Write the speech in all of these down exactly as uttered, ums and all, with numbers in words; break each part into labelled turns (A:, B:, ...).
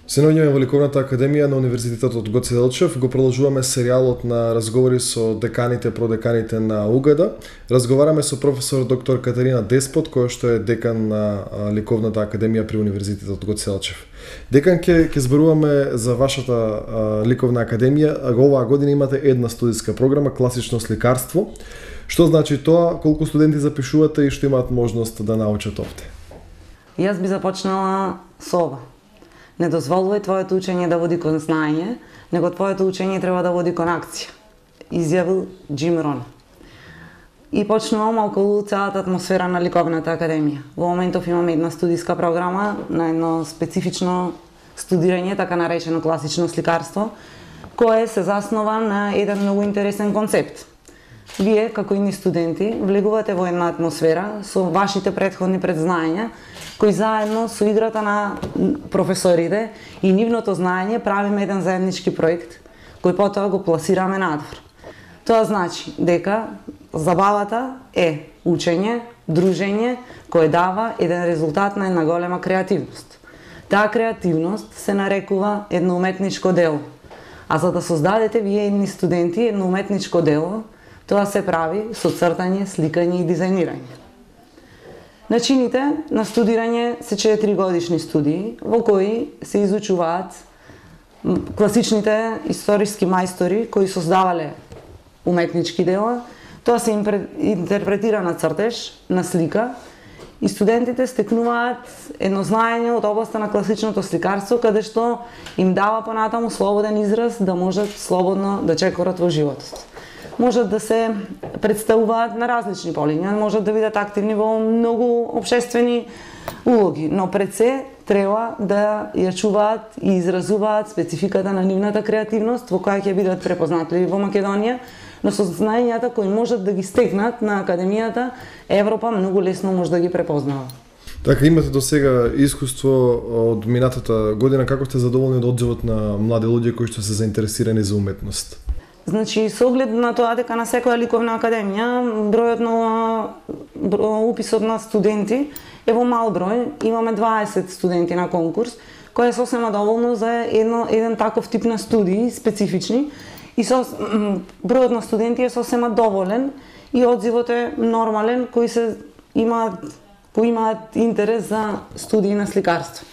A: Се наоѓаме во Ликовната академија на Универзитетот Гоце Делчев. Го продолжуваме серијалот на разговори со деканите, продеканите на УГД. Разговараме со професор доктор Катерина Деспот, која што е декан на Ликовната академија при Универзитетот Гоце Делчев. Декан, ќе ќе зборуваме за вашата а, Ликовна академија. Оваа година имате една студиска програма класично сликарство. Што значи тоа? Колку студенти запишувате и што имаат можност да научат овде?
B: Јас би започнала со ова. Не дозволувај твоето учење да води кон знаење, него твоето учење треба да води кон акција, изјавил Джим Рон. И почнувам околу целата атмосфера на Ликовната академија. Во моментов имаме една студиска програма на едно специфично студирање, така наречено класично сликарство, кое се заснова на еден многу интересен концепт. Вие, како и студенти, влегувате во една атмосфера со вашите претходни предзнаења, кои заедно со играта на професорите и нивното знаење правиме еден заеднички проект, кој потоа го пласираме надвор. Тоа значи дека забавата е учење, дружење, кој дава еден резултат на една голема креативност. Таа креативност се нарекува едно уметничко дело. А за да создадете вие едни студенти едно уметничко дело, тоа се прави со цртање, сликање и дизајнирање. Начините на студирање се четири годишни студии, во кои се изучуваат класичните историски мајстори кои создавале уметнички дела. Тоа се интерпретира на цртеж, на слика, и студентите стекнуваат едно знаење од областа на класичното сликарство, каде што им дава понатаму слободен израз да можат слободно да чекорат во животот. Можат да се представуваат на различни полиња, можат да бидат активни во многу општествени улоги, но пред се треба да ја чуваат и изразуваат спецификата на нивната креативност, во која ќе бидат препознатливи во Македонија, но со знаењата кои можат да ги стекнат на академијата, Европа многу лесно може да ги препознава.
A: Така, имате до сега искуство од минатата година, како сте задоволни од одзивот на млади луѓе кои што се заинтересирани за уметност?
B: Значи, со оглед на тоа дека на секоја ликовна академија бројот на уписот на студенти е во мал број, имаме дваесет студенти на конкурс, кој е сосема доволно за едно, еден таков тип на студии, специфични, и со, бројот на студенти е сосема доволен и одзивот е нормален, кои се имаат, кои имаат интерес за студии на сликарство.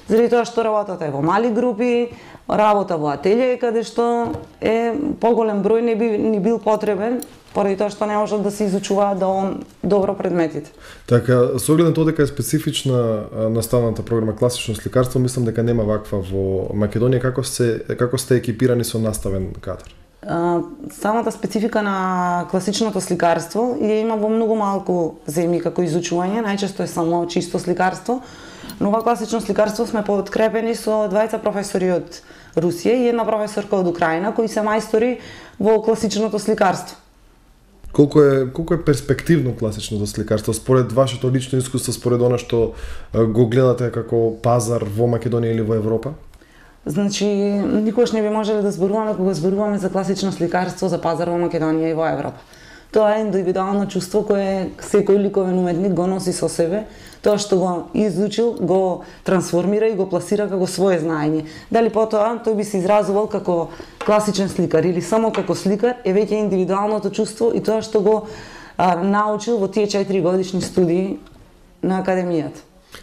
B: Заради тоа што работата е во мали групи, работа во ателје, каде што е поголем број не би ни бил потребен, поради тоа што не можат да се изучуваат доволно добро предметите.
A: Така, со оглед на тоа дека е специфична наставната програма класично сликарство, мислам дека нема ваква во Македонија. Како се како сте екипирани со наставен кадар?
B: А, самата специфика на класичното сликарство ја има во многу малку земји како изучување, најчесто е само чисто сликарство. Но ова класично сликарство сме подкрепени со двајца професори од Русија и една професорка од Украина, кои се мајстори во класичното сликарство.
A: Колку е колку е перспективно класичното сликарство според вашето лично искуство, според она што го гледате како пазар во Македонија или во Европа?
B: Значи, никогаш не би можеле да зборуваме кога зборуваме за класично сликарство за пазар во Македонија и во Европа. Тоа е индивидуално чувство кое секој ликовен уметник го носи со себе. Тоа што го изучил, го трансформира и го пласира како свое знаење. Дали потоа тој би се изразувал како класичен сликар или само како сликар, е веќе индивидуалното чувство и тоа што го а, научил во тие четири годишни студии на академијата.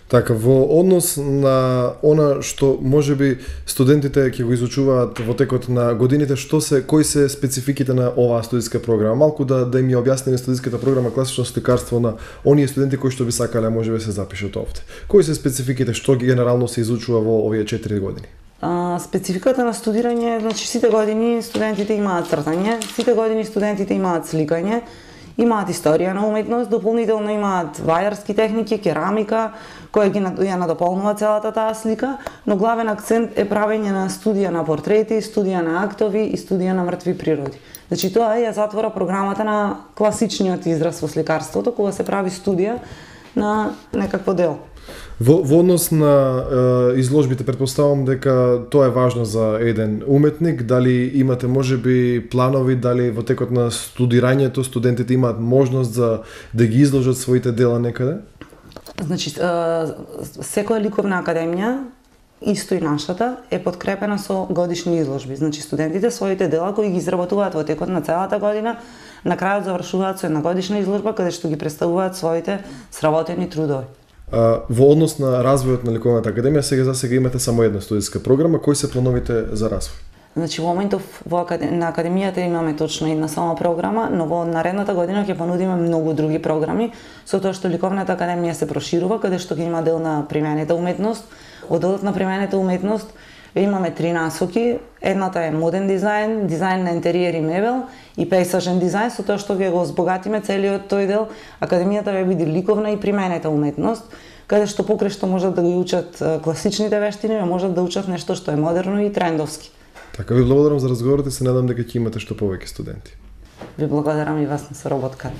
A: Така, во однос на она што можеби студентите ќе го изучуваат во текот на годините, што се кои се спецификите на оваа студиска програма? Малку да да им ја објасниме студиската програма класично сликарство на оние студенти кои што би сакале можеби се запишат овде. Кои се спецификите, што ги генерално се изучува во овие четири години?
B: А, спецификата на студирање, значи сите години студентите имаат цртање, сите години студентите имаат сликање, имаат историја на уметност, дополнително имаат вајарски техники, керамика, која ги ја надополнува целата таа слика, но главен акцент е правење на студија на портрети, студија на актови и студија на мртви природи. Значи тоа ја затвора програмата на класичниот израз во сликарството, кога се прави студија на некакво дело.
A: Во, во однос на е, изложбите, предпоставам дека тоа е важно за еден уметник. Дали имате можеби планови, дали во текот на студирањето студентите имаат можност за да ги изложат своите дела некаде?
B: Значи, секоја ликовна академија исто и нашата, е подкрепена со годишни изложби. Значи студентите своите дела кои ги изработуваат во текот на целата година, на крајот завршуваат со една годишна изложба каде што ги представуваат своите сработени трудови.
A: А, во однос на развојот на Ликовната академија, сега за сега имате само една студиска програма, кои се плановите за развој?
B: Значи во моментов во акад... на академијата имаме точно една само програма, но во наредната година ќе понудиме многу други програми, со тоа што Ликовната академија се проширува, каде што ќе има дел на применета уметност. Во делот на применета уметност имаме три насоки. Едната е моден дизајн, дизајн на интериер и мебел и пейсажен дизајн, со тоа што ќе го збогатиме целиот тој дел. Академијата ќе биде ликовна и применета уметност, каде што покрај што можат да ги учат класичните вештини, можат да учат нешто што е модерно и трендовски.
A: Така, ви благодарам за разговорот и се надам дека ќе имате што повеќе студенти.
B: Ви благодарам и вас на соработка.